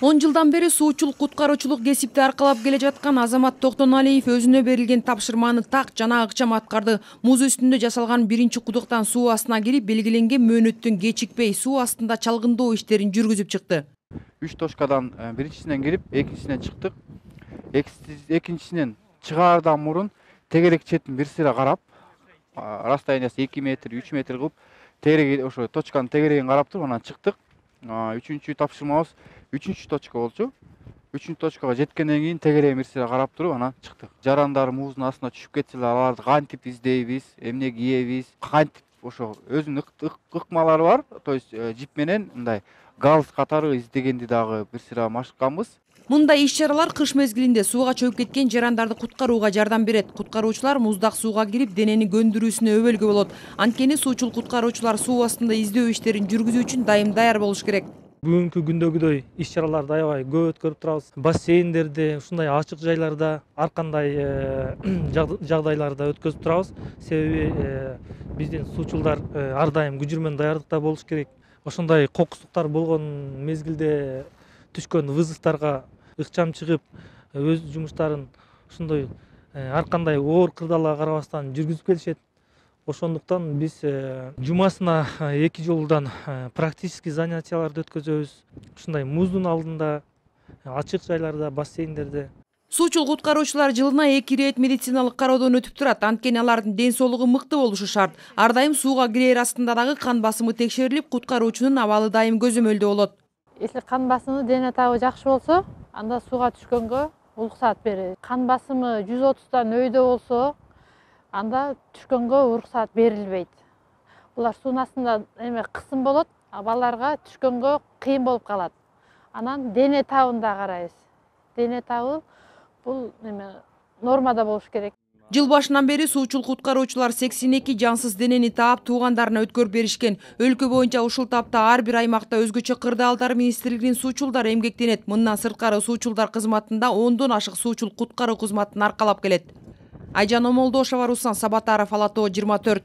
10 жылдан бери суучулук куткаруучулук кесипти аркалап келе жаткан Азамат Токтоналиев өзүнө берилген тапшырманы так жана ыкчам аткарды. Муз үстүндө жасалган биринчи кудуктан суу астына кирип, белгиленген мөөнөттөн кечикпей суу астында чалгындоо иштерин жүргүзүп чыкты. 3 точкадан биринчисинен кирип, экинчисинен чыктык. Экинчисинен чыгаардан мурун тегерек четин бир сыйра карап, расстояниясы 2 метр, 3 метр кылып, тегерек ошо точканын тегерегин карап туруп анан чыктык. Үчүнчү тапшырмабыз 3-чү точка болчу. 3-чү точкага жеткенден кийин тегерегин бир сыйра карап туруп анан чыктык. Жарандар муздун астына түшүп кетселер, аларды кантип издейбиз, эмне кийебиз, кантип ошо өзүнүн ыкмалары бар. То есть жип менен мындай галс катары издегенди дагы бир сыйра машыкканбыз. Мындай иш-чаралар кыш мезгилинде сууга чөгүп кеткен жарандарды куткарууга жардам берет. Куткаруучулар муздак сууга кирип, денени көндүрүүсүнө өбөлгө болот. Анткени суучул куткаруучулар суу астында издөө иштерин жүргүзүү үчүн дайым даяр болуш керек. Бүгүнкү күндөгүдөй иш-чараларды аябай көп өткөрүп турабыз. Бассейндерде, ушундай ачык жайларда, ар кандай жагдайларда өткөзүп турабыз. Себеби биздин суучулдар ар дайым күжүрмөн даярдыкта болуш керек. Ошондой кокустуктар болгон мезгилде түшкөн вызовторго ыкчам чыгып, өз жумуштарын ушундай ар кандай оор кырдаалга карабастан жүргүзүп келишет. Ошондуктан биз жумасына 2 жолудан практический занятияларды өткөзөбүз. Ушундай муздун алдында, ачык жайларда, бассейндерде. Суучул куткаруучулар жылына 2 ирет медициналык кароодон өтүп турат. Анткени алардын ден соолугу мыкты болушу шарт. Ар дайым сууга кирээр астында дагы кан басымы текшерилип, куткаруучунун абалы дайым көзөмөлдө болот. Если кан басымы, дене табы жакшы болсо, анда сууга түшкөнгө уруксат берилет. Кан басымы 130 өйдө болсо, анда түшкөнгө уруксат берилбейт. Булар суунун астында кысым болот, балдарга түшкөнгө кыйын болуп калат. Анан дене табын да карайбыз. Дене табы бул нормада болуш керек. Жыл башынан бери суучул куткаруучулар 82 жансыз денени таап туугандарына өткөрүп беришкен. Өлкө боюнча ушул тапта ар бир аймакта өзгөчө кырдаалдар министрлигинин суучулдары эмгектенет. Мындан сырткары суучулдар кызматында 10дон ашык суучул куткаруу кызматын аркалап келет. Айжан Омолдошова, Руслан Сабатаров, Ала Тоо 24.